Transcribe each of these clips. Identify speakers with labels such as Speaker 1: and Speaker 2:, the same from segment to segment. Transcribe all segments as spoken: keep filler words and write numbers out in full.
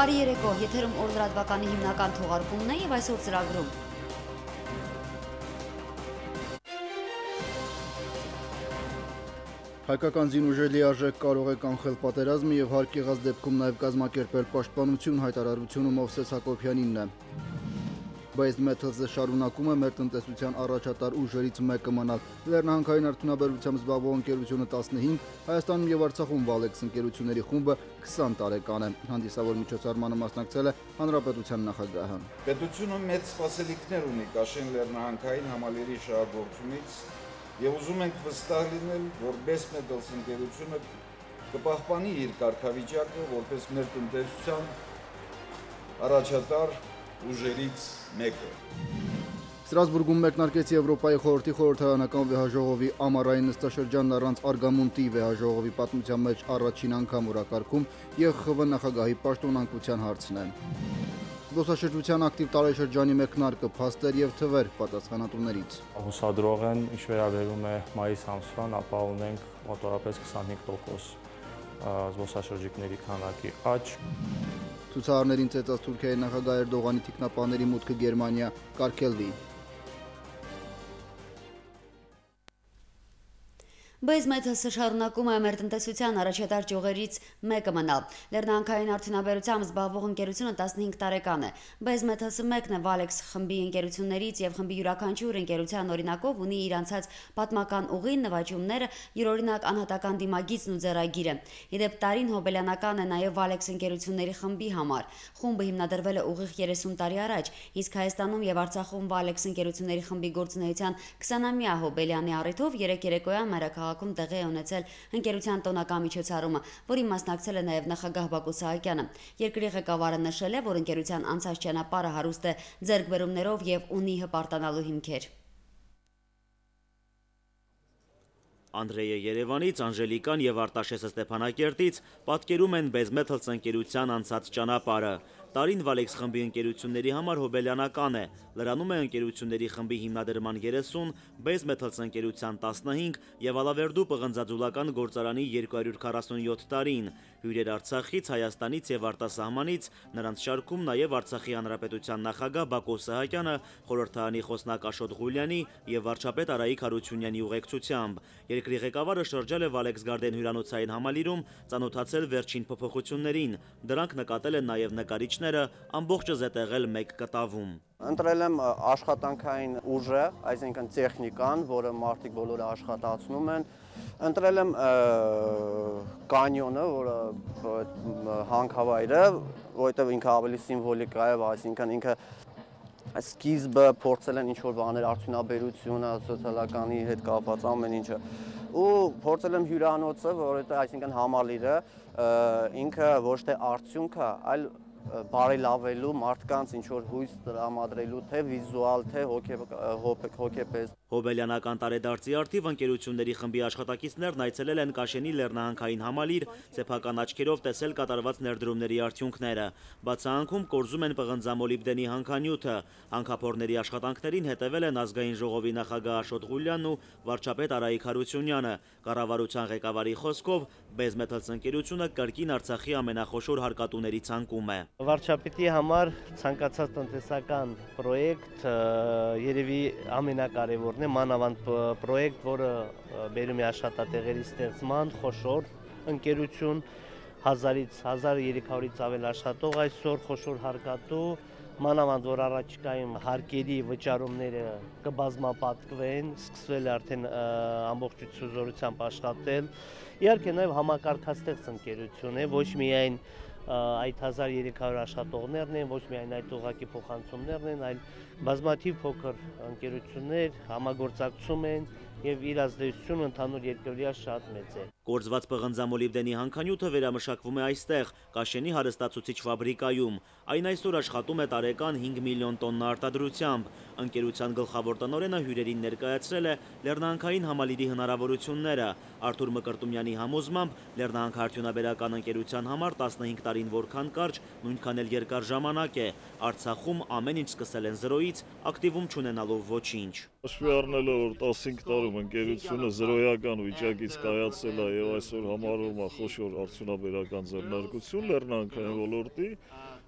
Speaker 1: Բարի երեկո, եթերում օրլրատվականի հիմնական թողարկումն է եւ այսօր ծրագրում։
Speaker 2: Հայկական զինուժերի լիարժեք կարող է կանխել պատերազմը եւ հարկ եղած դեպքում նաեւ կազմակերպել պաշտպանություն, հայտարարությունը Մովսես Հակոբյանինն է։ Base Metals-ը շարունակում է մեր տնտեսության առաջատար ուժերից մեկը մնալ։ Լեռնահանքային արդյունաբերությամբ զբաղվող ընկերությունը տասնհինգ, Հայաստանում եւ Արցախում Valex ընկերությունների խումբը քսան տարեկան է։ Հանդիսավոր միջոցառմանը մասնակցել է Հանրապետության նախագահը։
Speaker 3: Պետությունը մեծ սպասելիքներ ունի Կաշեն լեռնահանքային համալիրի շահագործումից եւ ուզում ենք վստահ լինել, որ Base Metals ընկերությունը կպահպանի իր կարգավիճակը որպես մեր տնտեսության առաջատար ուժերից մեկը։
Speaker 2: Ստրասբուրգում մեկնարկեց Եվրոպայի խորհրդի խորհրդարանական վեհաժողովի ամառային նստաշրջանն առանց Արգամունտի վեհաժողովի պատմության մեջ առաջին անգամ օրակարգում Ե Խ Խ նախագահի պաշտոնանկության հարցն է։ Զբոսաշրջության ակտիվ տարեշրջանի մեկնարկը, փաստեր եւ թվեր պատասխանատուներից։
Speaker 4: Հուսադրող են, ինչ վերաբերում է մայիս ամսվան, ապա ունենք մոտավորապես քսանհինգ տոկոս զբոսաշրջիկների քանակի աճ։
Speaker 2: Ցուցարարներին ծեծած Թուրքիայի նախագահ Էրդողանի թիկնապահների մուտքը Գերմանիա կարգելվի։
Speaker 1: Base Metals-ը շարունակում է մեր տնտեսության առաջատար ճյուղերից մեկը մնալ։ Լեռնահանքային արդյունաբերությամբ զբաղվող ընկերությունը տասնհինգ տարեկան է։ Base Metals-ը մեկն է Valex խմբի ընկերություններից եւ խմբի յուրաքանչյուր ընկերության օրինակով ունի իր անցած պատմական ուղին, նվաճումները, յուրօրինակ անհատական դիմագիծն ու ձեռագիրը։ Իդեպ տարին հոբելյանական է նաեւ Valex ընկերությունների խմբի համար։ Խումբը հիմնադրվել է ուղիղ երեսուն տարի առաջ, իսկ Հայաստանում եւ Արցախում Valex ընկերությունների խմբի գործունեության քսանամյա հոբելյանի առիթով երեք երեկոյան մայրաքաղաքում տեղի է ունեցել ընկերության տոնական միջոցառումը, որին մասնակցել է նաև նախագահ Բակո Սահակյանը։ Երկրի ղեկավարը նշել է, որ ընկերության անցած ճանապարհը հարուստ է ձեռքբերումներով եւ ունի հպարտանալու հիմքեր։
Speaker 5: Անդրեյը Երևանից, Անժելիկան եւ Արտաշեսը Ստեփանակերտից պատկերում են Base Metals ընկերության անցած ճանապարհը։ Տարին Valex խմբի ընկերությունների համար հոբելյանական է։ Լրանում է ընկերությունների խմբի հիմնադրման երեսուն, Base Metals ընկերության տասնհինգ եւ Ալավերդու պղնձաձուլական գործարանի երկու հարյուր քառասունյոթ տարին։ Հյուրեր Արցախից, Հայաստանից եւ արտասահմանից, նրանց շարքում նաեւ Արցախի հանրապետության նախագահ Բակո Սահակյանը, խորհրդարանի խոսնակ Աշոտ Ղուլյանի եւ վարչապետ Արայիկ Հարությունյանի ուղեկցությամբ։ Երկրի ղեկավարը շրջել է Valex Garden հյուրանոցային համալիրում, ծանոթացել վերջին փոփոխություններին։ Դրանք նկատել են նաեւ նկարիչները, ամբողջը զետեղել մեկ կտավում։
Speaker 6: Ընտրել եմ աշխատանքային ուժը, այսինքն տեխնիկան, որը մարդիկ բոլորը աշխատացնում են։ Ընտրել եմ կանյոնը, որը հանքավայրը, որովհետև ինքը ավելի սիմվոլիկ է, այսինքն ինքը սկիզբը փորձել են ինչ-որ բաներ արդյունաբերությունը, սոցիալականի հետ կապված ամեն ինչը։ Ու փորձել եմ հյուրանոցը, որովհետև այսինքն համալիրը ինքը ոչ թե արդյունք է, այլ բարելավելու մարդկանց ինչ-որ հույս տրամադրելու թե վիզուալ, թե հոգեպես։
Speaker 5: Հոբելյանական տարեդարձի արդիվ ընկերությունների խմբի աշխատակիցներն այցելել են Կաշենի լեռնահանքային համալիր, սեփական աչքերով տեսել կատարված ներդրումների արդյունքները։ Բացահանքում կորզում են պղնձամոլիբդենի հանքանյութը։ Հանքափորների աշխատանքներին հետևել են ազգային ժողովի նախագահ Աշոտ Ղուլյանն ու վարչապետ Արայիկ Հարությունյանը։ Կառավարության ղեկավարի խոսքով Base Metals ընկերությունը կրկին Արցախի ամենախոշոր հարկատուների ցանկում է։
Speaker 7: Վարչապետի համար ցանկացած տնտեսական պրոյեկտ երևի ամենակարևորն է, մանավանդ պրոյեկտ, որը բերում է աշխատատեղերի ստեղծման, խոշոր ընկերություն, հազարից հազար երեք հարյուրից ավել աշխատող այսօր, խոշոր հարկատու, մանավանդ որ առաջիկայում հարկերի վճարումները կբազմապատկվեն, սկսվել է արդեն ամբողջություն զորությամբ աշխատել։ Իհարկե նաև համակարգաստեղծ ընկերություն է, ոչ միայն այդ հազար երեք հարյուր աշխատողներն են, ոչ միայն այդ ուղղակի փոխանցումներն են, այլ բազմաթիվ փոքր ընկերություններ համագործակցում են եւ իր ազդեցությունը ընդհանուր երկրի շատ մեծ է։
Speaker 5: Կորզված պղնձամոլիբդենի հանքանյութը վերամշակվում է այստեղ, Կաշենի հարստացուցիչ ֆաբրիկայում։ Այն այսօր աշխատում է տարեկան հինգ միլիոն տոննա արտադրությամբ։ Ընկերության գլխավոր տնօրենը հյուրերին ներկայացրել է լեռնահանքային համալիրի հնարավորությունները։ Արթուր Մկրտումյանի համոզմամբ լեռնահանքարդյունաբերական ընկերության համար տասնհինգ տարին որքան կարճ, նույնքան էլ երկար ժամանակ է։ Արցախում ամեն ինչ սկսել են զրոյից, ակտիվում չունենալով ոչինչ։
Speaker 8: Հաշվի առնելով, որ տասնհինգ տարում ընկերությունը զրոյական վիճակից կայացել է եւ այսօր համարվում է խոշոր արդյունաբերական ձեռնարկություն լեռնահանքային ոլորտի,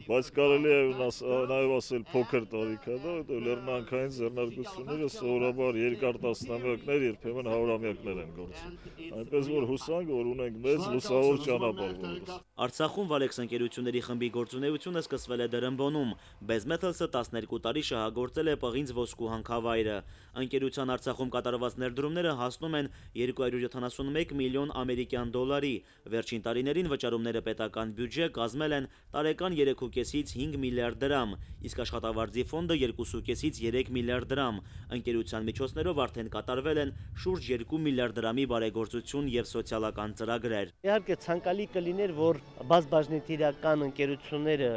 Speaker 8: բայց կարելի է նաև ասել փոքր տարիք է դա, որտեղ լեռնանքային ձեռնարկությունները սովորաբար երկար տասնամյակներ, երբեմն հարյուրամյակներ են գործում։ Այնպես որ հուսանք, որ ունենք մեծ լուսավոր ճանապարհ որս։
Speaker 5: Արցախում Valex ընկերությունների խմբի գործունեությունը սկսվել է Դրամբոնում։ Bezmetals-ը տասներկու տարի շահագործել է պղինձ ոսկու հանքավայրը։ Ընկերության Արցախում կատարված ներդրումները հասնում են երկու հարյուր յոթանասունմեկ միլիոն ամերիկյան դոլարի։ Վերջին տարիներին վճարումները պետական բյուջե կազմել են տարեկան երեք ու կեսից հինգ միլիարդ դրամ, իսկ աշխատավարձի ֆոնդը երկու կեսից երեք միլիարդ դրամ։ Ընկերության միջոցներով արդեն կատարվել են շուրջ երկու միլիարդ դրամի բարեգործություն եւ սոցիալական ծրագրեր։
Speaker 7: Իհարկե ցանկալի կլիներ, որ բազմաբաժնետիրական ընկերությունները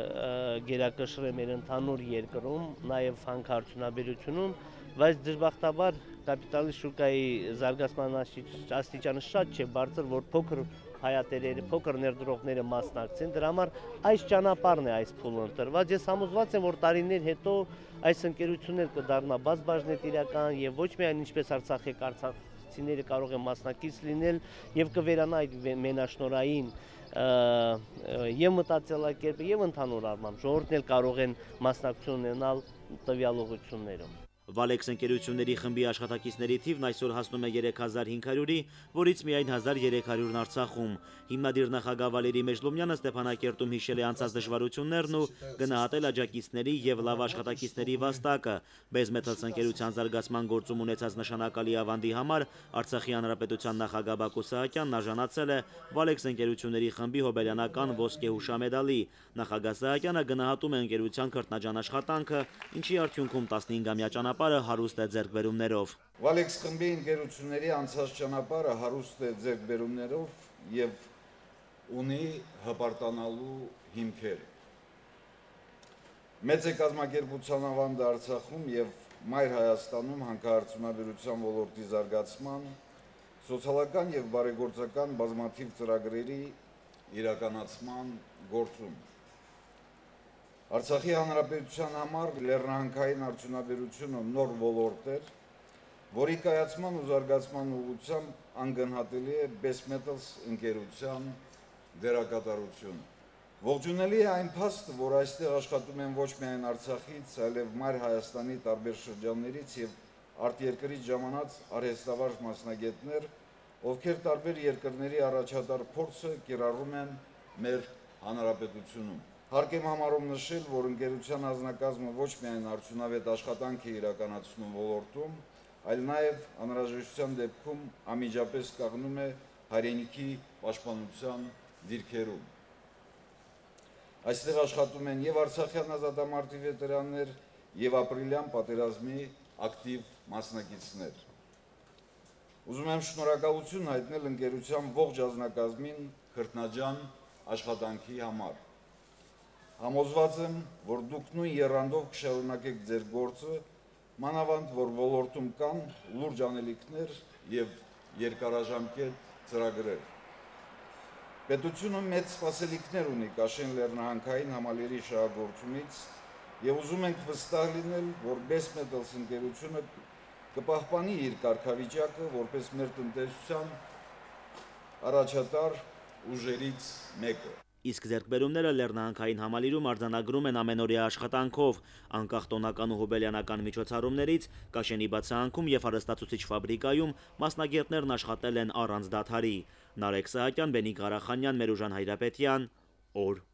Speaker 7: գերակշռեն մեր ընդհանուր երկրում, նաև հանքարդյունաբերությունում, բայց դժբախտաբար կապիտալի շուկայի զարգացման աստիճանը շատ չէ բարձր, որ փոքր հայատերերը, փոքր ներդրողները մասնակցեն, դրա համար այս ճանապարհն է այս փուլը ընտրված։ Ես համոզված եմ, որ տարիներ հետո այս ընկերությունները կդառնա բազմաբաժնետիրական եւ ոչ միայն ինչպես Արցախի արցախցիները կարող են մասնակից լինել եւ կվերանա այդ մենաշնորհային եւ մտածելակերպը եւ ընդհանուր առմամբ ժողովուրդն էլ կարող են մասնակցություն ունենալ տվյալ ուղղություններում։
Speaker 5: Valex ընկերությունների խմբի աշխատակիցների թիվն այսօր հասնում է երեք հազար հինգ հարյուրի, որից միայն հազար երեք հարյուրն Արցախում։ Հիմնադիր նախագահ Վալերի Մեժլոմյանը Ստեփանակերտում հիշել է անցած դժվարություններն ու գնահատել աջակիցների եւ լավ աշխատակիցների վաստակը։ Bezmetals ընկերության զարգացման գործում ունեցած նշանակալի ավանդի համար Արցախի հանրապետության նախագահ Բակո Սահակյանն արժանացել է Valex ընկերությունների խմբի հոբելյանական ոսկե հուշամեդալի։ Նախագահ Սահակյանը գնահատում է ընկերության քրտնաջան աշխատանքը, ինչի արդյունքում տասնհինգամյա ճանապարհը հարուստ է ձեռքբերումներով։
Speaker 3: Valex խմբի ընկերությունների անցած ճանապարհը հարուստ է ձեռքբերումներով եւ ունի հպարտանալու հիմքեր։ Մեծ է կազմակերպության ավանդը Արցախում եւ Մայր Հայաստանում հանքարդյունաբերության ոլորտի զարգացման, սոցիալական եւ բարեգործական բազմաթիվ ծրագրերի իրականացման գործում։ Արցախի հանրապետության համար լեռնահանքային արդյունաբերությունը նոր ոլորտ էր, որի կայացման ու զարգացման ուղղությամբ անգնահատելի է Bezmetals ընկերության դերակատարությունը։ Ողջունելի է այն փաստը, որ այստեղ աշխատում են ոչ միայն Արցախից, այլև Մայր Հայաստանի տարբեր շրջաններից եւ արտերկրից ժամանած արհեստավարժ մասնագետներ, ովքեր տարբեր երկրների առաջատար փորձը կիրառում են մեր հանրապետությունում։ Հարկ եմ համարում նշել, որ ընկերության անձնակազմը ոչ միայն արդյունավետ աշխատանք է իրականացնում ոլորտում, այլ նաև անհրաժեշտության դեպքում անմիջապես կանգնում է հայրենիքի պաշտպանության դիրքերում։ Այստեղ աշխատում են եւ արցախյան ազատամարտի վետերաններ, եւ ապրիլյան պատերազմի ակտիվ մասնակիցներ։ Ուզում եմ շնորհակալություն հայտնել ընկերության ողջ անձնակազմին քրտնաջան աշխատանքի համար։ Համոզված եմ, որ դուք նույն եռանդով կշարունակեք ձեր գործը, մանավանդ որ ոլորտում կան լուրջ անելիքներ եւ երկարաժամկետ ծրագրեր։ Պետությունը մեծ սպասելիքներ ունի Կաշեն լեռնահանքային համալիրի շահագործումից եւ ուզում ենք վստահ լինել, որ Bezmetals ընկերությունը կպահպանի իր կարգավիճակը որպես մեր տնտեսության առաջատար ուժերից մեկը։
Speaker 5: Իսկ ձեռքբերումները լեռնահանքային համալիրում արձանագրում են ամենօրյա աշխատանքով, անկախ տոնական ու հոբելյանական միջոցառումներից, Կաշենի բացահանքում եւ հարստացուցիչ ֆաբրիկայում մասնագետներն աշխատել են առանց դադարի։ Նարեկ Սահակյան, Բենիկ Ղարախանյան, Մերուժան Հայրապետյան, օր։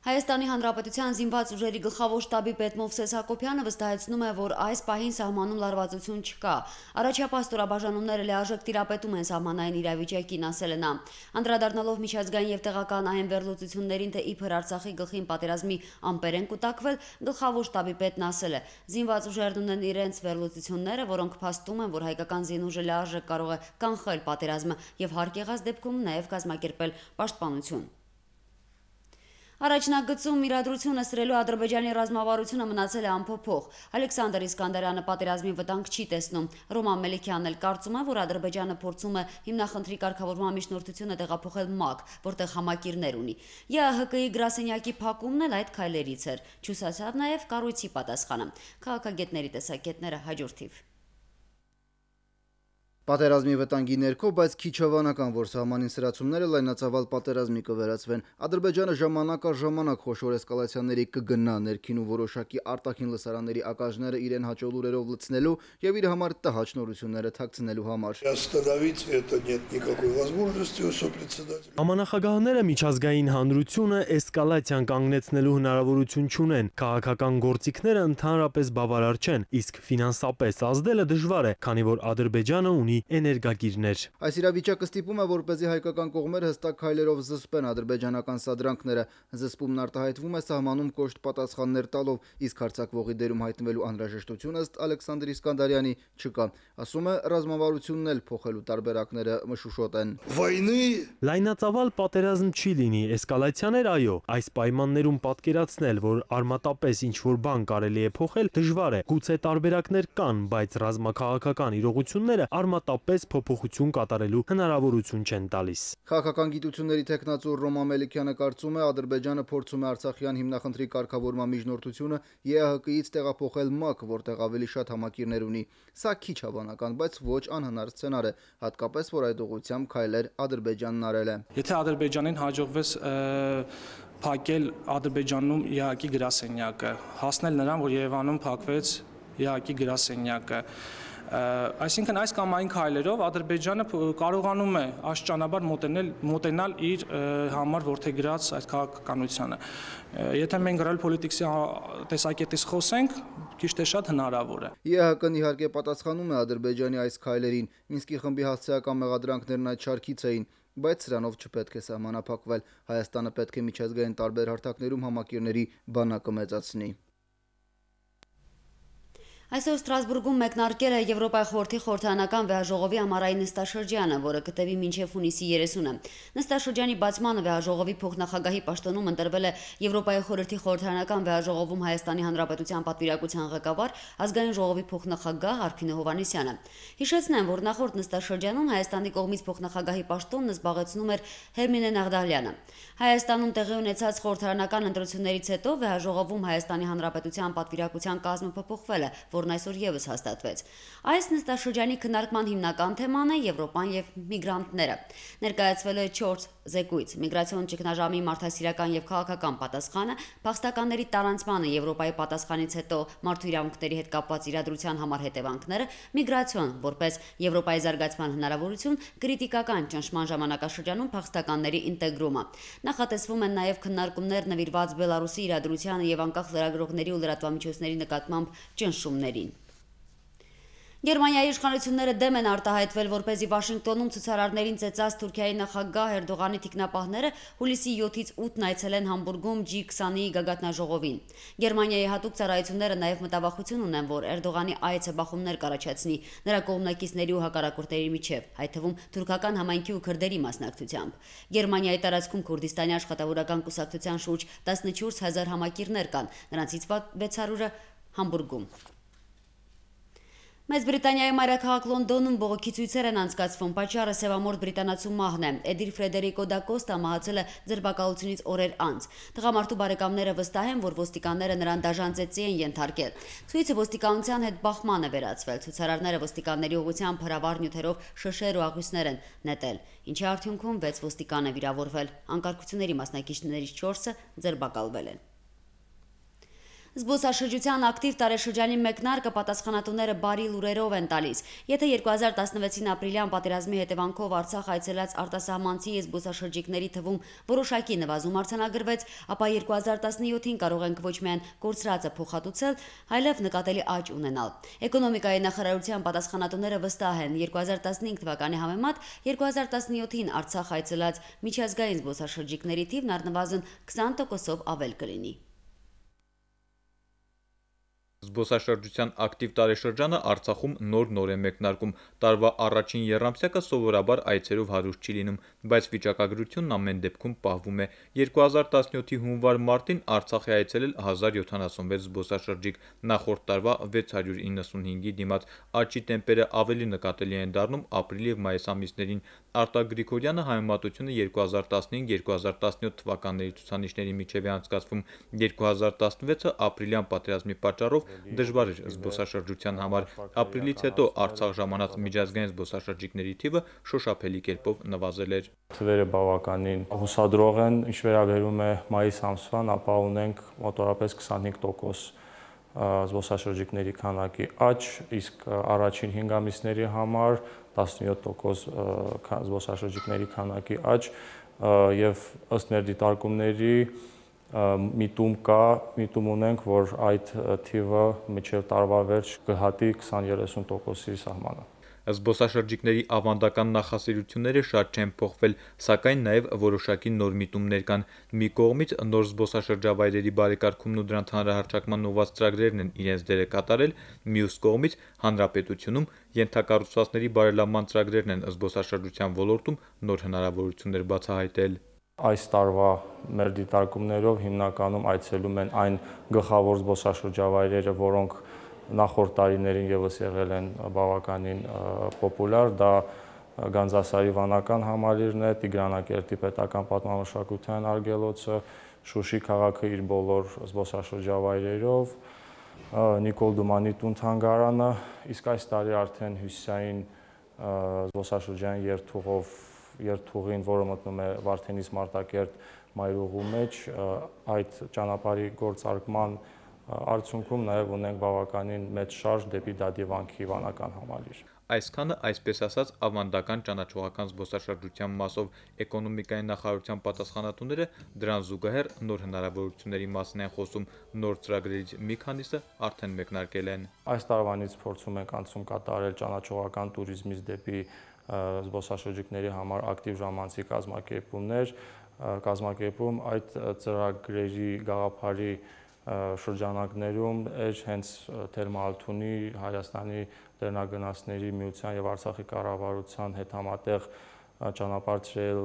Speaker 1: Հայաստանի Հանրապետության զինված ուժերի գլխավոր շտաբի պետ Մովսես Հակոբյանը վստահեցնում է, որ այս պահին սահմանում լարվածություն չկա։ Առաջապահ ստորաբաժանումները լիարժեք տիրապետում են սահմանային իրավիճակին, ասել է նա։ Անդրադառնալով միջազգային եւ տեղական այն վերլուծություններին, թե իբր Արցախի գլխին պատերազմի ամպեր են կուտակվել, գլխավոր շտաբի պետն ասել է. զինված ուժերն ունեն իրենց վերլուծությունները, որոնք փաստում են, որ հայկական զինուժը լիարժեք կարող է կանխել պատերազմը եւ հարկ եղած դեպքում նաեւ կազմակերպել պաշտպանություն։ Առաջնագծում իրադրությունը սրելու Ադրբեջանի ռազմավարությունը մնացել է անփոփոխ։ Ալեքսանդր Իսկանդարյանը պատերազմի վտանգ չի տեսնում։ Ռոման Մելիքյանն էլ կարծում է, որ Ադրբեջանը փորձում է հիմնախնդրի կարգավորման միջնորդությունը տեղափոխել ՄԱԿ, որտեղ համակիրներ ունի։ ԵԱՀԿ-ի գրասենյակի փակումն էլ այդ քայլերից էր։ Չուսացավ նաև կառույցի պատասխանը։ Քաղաքագետների տեսակետները հաջորդիվ։
Speaker 2: Պատերազմի վտանգի ներքո, բայց քիչ հավանական, որ սահմանին սրացումները լայնածավալ պատերազմի կվերածվեն։ Ադրբեջանը ժամանակ առ ժամանակ խոշոր էսկալացիաների կգնա, ներքին ու որոշակի արտաքին լսարանների ակաժները իրեն հաճո լուրերով լցնելու եւ իր համար տհաճ նորությունները թաքցնելու համար։
Speaker 9: Ամանախագահները միջազգային հանրությունը էսկալացիան կանգնեցնելու հնարավորություն չունեն, քաղաքական գործիքները ընդհանրապես բավարար չեն, իսկ ֆինանսապես ազդելը դժվար է, քանի որ Ադրբեջանը ունի էներգագիրներ։
Speaker 2: Այս իրավիճակը ստիպում է, որպեսզի հայկական կողմերը հստակ քայլերով զսպեն ադրբեջանական սադրանքները։ Զսպումն արտահայտվում է սահմանում կոշտ պատասխաններ տալով, իսկ հարձակվողի դերում հայտնվելու անհրաժեշտությունը ըստ Ալեքսանդր Իսկանդարյանի չկա։ Ասում է, ռազմավարությունն էլ փոխելու տարբերակները մշուշոտ են։
Speaker 9: Լայնածավալ պատերազմ չի լինի, էսկալացիաներ այո, այս պայմաններում պատկերացնել, որ արմատապես ինչ-որ բան կարելի է փոխել, դժվար է։ Գուցե տարբերակներ կան, բայց ռազմաքաղաքական իրողությունները արմատապես փոփոխություն կատարելու հնարավորություն չեն տալիս։
Speaker 2: Քաղաքական գիտությունների թեկնածու Ռոմա Մելիքյանը կարծում է, Ադրբեջանը փորձում է Արցախյան հիմնախնդրի կարգավորման միջնորդությունը Է Ա Հ Կ-ից տեղափոխել Մ Ակ, որտեղ ավելի շատ համակիրներ ունի։ Սա քիչ հավանական, բայց ոչ անհնար սցենար է, հատկապես որ այդ ուղղությամբ քայլեր Ադրբեջանն արել է։
Speaker 10: Եթե Ադրբեջանին հաջողվեց փակել Ադրբեջանում Է Ա Հ-ի գրասենյակը, հասնել նրան, որ Երևանում փակվեց Է Ա Հ-ի գրասենյակը, այսինքն այս կամ այն քայլերով Ադրբեջանը կարողանում է աշճանաբար մոտենել մոտենալ իր համար որդեգրած այդ քաղաքականությանը։ Եթե մենք ռեալ պոլիտիկսի տեսակետից խոսենք, քիչ թե շատ հնարավոր է։
Speaker 2: Է Ա Հ Կ-ն իհարկե պատասխանում է Ադրբեջանի այս քայլերին, Մինսկի խմբի հասցեական մեղադրանքներն այդ շարքից էին, բայց սրանով չպետք է սահմանափակվել։ Հայաստանը պետք է միջազգային տարբեր հարթակներում համակիրների բանակը մեծացնի։
Speaker 1: Այսօր Ստրասբուրգում մեկնարկել է Եվրոպայի խորհրդի խորհրդարանական վեհաժողովի ամառային նստաշրջանը, որը կտևի մինչև հունիսի երեսունը։ Նստաշրջանի բացմանը վեհաժողովի փոխնախագահի պաշտոնում ընտրվել է Եվրոպայի խորհրդի խորհրդարանական վեհաժողովում Հայաստանի Հանրապետության պատվիրակության ղեկավար, ազգային ժողովի փոխնախագահ Արփինե Հովհաննիսյանը։ Հիշեցնեմ, որ նախորդ նստաշրջանում Հայաստանի կողմից փոխնախագահի պաշտոնն զբաղեցնում էր Հերմինե Նաղդալյանը։ Հայաստանում տեղի ունեցած խորհրդարանական ընտրություններից հետո վեհաժողովում Հայաստանի Հանրապետության պատվիրակության կազմը փոփոխվել է, որն այսօր եւս հաստատվեց։ Այս նստաշրջանի քննարկման հիմնական թեման է Եվրոպան եւ միգրանտները։ Ներկայացվել է չորս զեկույց՝ միգրացիոն ճգնաժամի մարդասիրական եւ քաղաքական պատասխանը, փախստականների տարանցմանը Եվրոպայի պատասխանից հետո մարդու իրավունքների հետ կապված իրադրության համար հետևանքները, միգրացիոն որպես Եվրոպայի զարգացման հնարավորություն, կրիտիկական ճնշման ժամանակաշրջանում փախստականների ինտեգրումը։ Նախատեսվում են նաեւ քննարկումներ նվիրված Բելարուսի իրադրությանը եւ անկախ լրագրողների ու լրատվամիջոցների նկատմամբ ճնշումներին։ Գերմանիայի իշխանությունները դեմ են արտահայտվել, որպեսզի Վաշինգտոնում ցուցարարներին ծեծած Թուրքիայի նախագահ Էրդողանի թիկնապահները հուլիսի յոթից ութն այցելեն Համբուրգում Ջի քսունի գագաթնաժողովին։ Գերմանիայի հատուկ ծառայությունները նաև մտավախություն ունեն, որ Էրդողանի այցը բախումներ կառաջացնի նրա կողմնակիցների ու հակառակորդների միջև, այդ թվում թուրքական համայնքի ու քրդերի մասնակցությամբ։ Գերմանիայի տարածքում Քուրդիստանի աշխատավորական կուսակցության շուրջ տասնչորս հազար համակիրներ կան, նրանցից վեց հարյուրը Համբուրգում։ Մեծ Բրիտանիայի մայրաքաղաք Լոնդոնում բողոքի ցույցեր են անցկացվում, պատճառը սևամորթ բրիտանացու մահն է։ Էդիր Ֆրեդերիկո դա Կոստա մահացել է ձերբակալությունից օրեր անց։ Տղամարդու բարեկամները վստահ են, որ ոստիկանները նրան դաժան ծեծի են ենթարկել։ Ցույցը ոստիկանության հետ բախման է վերածվել։ Ցուցարարները ոստիկանների ուղղությամբ հրավառ նյութերով շշեր ու աղյուսներ են նետել, ինչի արդյունքում վեց ոստիկան է վիրավորվել։ Անկարգությունների մասնակիցներից չորսը ձերբակալվել են։ Զբոսաշրջության ակտիվ տարեշրջանի մեկնարկը պատասխանատուները բարի լուրերով են տալիս։ Եթե երկու հազար տասնվեցին ապրիլյան պատերազմի հետևանքով Արցախ այցելած արտասահմանցի զբոսաշրջիկների թվում որոշակի նվազում արձանագրվեց, ապա երկու հազար տասնյոթին կարող ենք ոչ միայն կորցրածը փոխհատուցել, այլև նկատելի աճ ունենալ։ Էկոնոմիկայի նախարարության պատասխանատուները վստահ են, երկու հազար տասնհինգ թվականի համեմատ երկու հազար տասնյոթին Արցախ այցելած միջազգային զբոսաշրջիկների թիվն առնվազն քսան տոկոսով ավել կլինի։
Speaker 11: Զբոսաշրջության ակտիվ տարեշրջանը Արցախում նոր-նոր է մեկնարկում։ Տարվա առաջին եռամսյակը սովորաբար այցերով հարուստ չի լինում, բայց վիճակագրությունն ամեն դեպքում պահվում է։ երկու հազար տասնյոթի հունվար-մարտին Արցախ է այցելել հազար յոթանասունվեց զբոսաշրջիկ, նախորդ տարվա վեց հարյուր իննսունհինգի դիմաց։ Աճի տեմպերը ավելի նկատելի են դառնում ապրիլ եւ մայիս ամիսներին։ Արտակ Գրիգորյանը համեմատությունը երկու հազար տասնհինգ երկու հազար տասնյոթ թվականների ցուցանիշների միջև է անցկացվում։ երկու հազար տասնվեցը ապրիլյան պատերազմի պատճառով դժվար էր զբոսաշրջության համար։ Ապրիլից հետո Արցախ ժամանած միջազգային զբոսաշրջիկների թիվը շոշափելի կերպով նվազել էր։
Speaker 4: Թվերը բավականին հուսադրող են, ինչ վերաբերում է մայիս ամսվան, ապա ունենք մոտավորապես քսանհինգ տոկոս զբոսաշրջիկների քանակի աճ, իսկ առաջին հինգ ամիսների համար տասնյոթ տոկոս զբոսաշրջիկների քանակի աճ եւ ըստ մեր դիտարկումների միտում կա, միտում ունենք, որ այդ թիվը մինչև տարվա վերջ կհատի քսան երեսուն տոկոսի սահմանը։
Speaker 11: Զբոսաշրջիկների ավանդական նախասիրությունները շատ չեն փոխվել, սակայն նաև որոշակի նոր միտումներ կան։ Մի կողմից նոր զբոսաշրջավայրերի բարեկարգումն ու դրանց հանրահռչակման ուղղված ծրագրերն են իրենց դերը կատարել, մյուս կողմից հանրապետությունում ենթակառուցվածքների բարելավման ծրագրերն են զբոսաշրջության ոլորտում նոր հնարավորություններ բացահայտել։
Speaker 4: Այս տարվա մեր դիտարկումներով հիմնականում այցելում են այն գլխավոր զբոսաշրջավայրերը, որոնք նախորդ տարիներին եւս եղել են բավականին պոպուլյար, դա Գանձասարի վանական համալիրն է, Տիգրանակերտի պետական պատմամշակութային արգելոցը, Շուշի քաղաքը իր բոլոր զբոսաշրջավայրերով, Նիկոլ Դումանի տուն-թանգարանը, իսկ այս տարի արդեն հյուսիսային զբոսաշրջային երթուղով երթուղին, որը մտնում է Վարդենիս Մարտակերտ մայրուղու մեջ, այդ ճանապարհի գործարկման արդյունքում նաև ունենք բավականին մեծ շարժ դեպի Դադիվանքի վանական համալիր։
Speaker 11: Այսքանը, այսպես ասած, ավանդական ճանաչողական զբոսաշրջության մասով էկոնոմիկայի նախարարության պատասխանատուները դրան զուգահեռ նոր հնարավորությունների մասին են խոսում, նոր ծրագրերից մի քանիսը արդեն մեկնարկել են։
Speaker 4: Այս տարվանից փորձում ենք անցում կատարել ճանաչողական туриզմից դեպի զբոսաշրջիկների համար ակտիվ ժամանցի կազմակերպումներ, կազմակերպում այդ ծրագրերի գաղափարի շրջանակներում էր հենց Թերմալթունի, Հայաստանի Տերնագնացների միության եւ Արցախի կառավարության հետ համատեղ ճանապարհել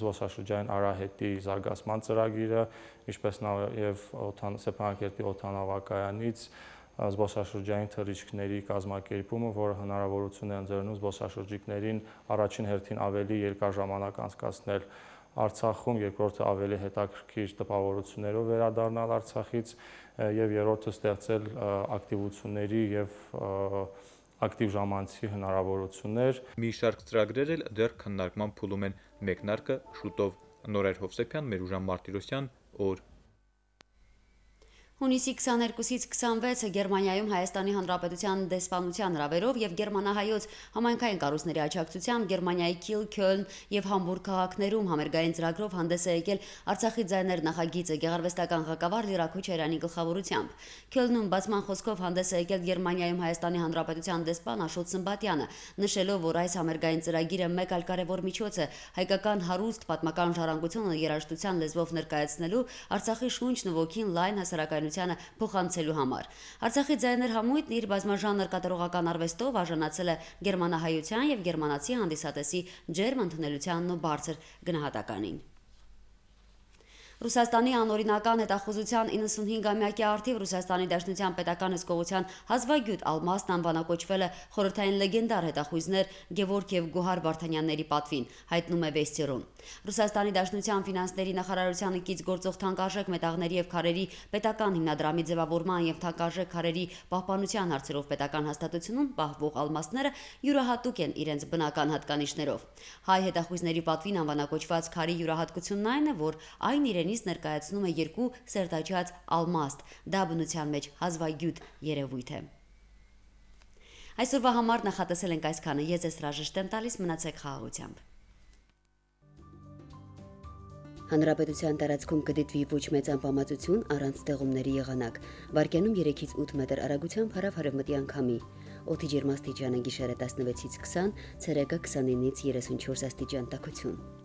Speaker 4: զբոսաշրջային արահետի զարգացման ծրագիրը, ինչպես նաեւ Ստեփանակերտի օդանավակայանից զբոսաշրջային թռիչքների կազմակերպումը, որը հնարավորություն է ընձեռնում զբոսաշրջիկներին առաջին հերթին ավելի երկար ժամանակ անցկացնել Արցախում, երկրորդը ավելի հետաքրքիր տպավորություններով վերադառնալ Արցախից եւ երրորդը ստեղծել ակտիվությունների եւ ակտիվ ժամանցի հնարավորություններ։
Speaker 11: Մի շարք ծրագրեր էլ դեռ քննարկման փուլում են, մեկնարկը շուտով։ Նորայր Հովսեփյան, Մերուժան Մարտիրոսյան, օր։
Speaker 1: Հունիսի քսաներկուսից քսանվեցը Գերմանիայում Հայաստանի Հանրապետության դեսպանության հրավերով եւ գերմանահայոց համայնքային կառույցների աջակցությամբ Գերմանիայի Քիլ, Քյոլն եւ Համբուրգ քաղաքներում համերգային ծրագրով հանդես է եկել Արցախի ձայներ նախագիծը գեղարվեստական ղեկավար Լիրա Քոչարյանի գլխավորությամբ։ Քյոլնում բացման խոսքով հանդես է եկել Գերմանիայում Հայաստանի Հանրապետության դեսպան Աշոտ Սմբատյանը, նշելով, որ այս համերգային ծրագիրը մեկ այլ կարևոր միջոց է հայկական հարուստ պատմական ժառանգությունը երաժշտության լեզվով ներկայացնելու, Արցախի շունչն ու ոգին լայն հասարակայնությանը փոխանցելու համար։ Արցախի ձայներ համույթն իր բազմաժանր կատարողական արվեստով արժանացել է գերմանահայության եւ գերմանացի հանդիսատեսի ջերմ ընդունելությանն ու բարձր գնահատականին։ Ռուսաստանի անօրինական հետախուզության իննսունհինգամյակի առթիվ Ռուսաստանի Դաշնության պետական հսկողության հազվագյուտ Ալմասն անվանակոչվել է խորհրդային լեգենդար հետախույզներ Գևորգ եւ Գոհար Վարդանյանների պատվին, հայտնում է Վեստերուն։ Ռուսաստանի Դաշնության ֆինանսների նախարարությանը կից գործող թանկարժեք մետաղների եւ քարերի պետական հիմնադրամի ձևավորման եւ թանկարժեք քարերի պահպանության հարցերով պետական հաստատությունում պահվող ալմասները յուրահատուկ են իրենց բնական հատկանիշներով։ Հայ հետախույզների պատվին անվանակոչված քարի յուրահատկությունն այն է, որ այն իրեն ներկայացնում է երկու սերտաճած ալմաստ, դա բնության մեջ հազվագյուտ երևույթ է։ Այսօրվա համար նախատեսել ենք այսքանը, ես ձեզ հրաժեշտ եմ տալիս, մնացեք խաղաղությամբ։ Հանրապետության տարածքում կդիտվի ոչ մեծ անբավարարություն առանց ձեղումների եղանակ։ Վարկյանում երեքից ութ մետր արագությամբ հարավ-արևմտի անկամի։ Օդի ջերմաստիճանը գիշերը տասնվեցից քսան, ցերեկը քսանինից երեսունչորս աստիճան տաքություն։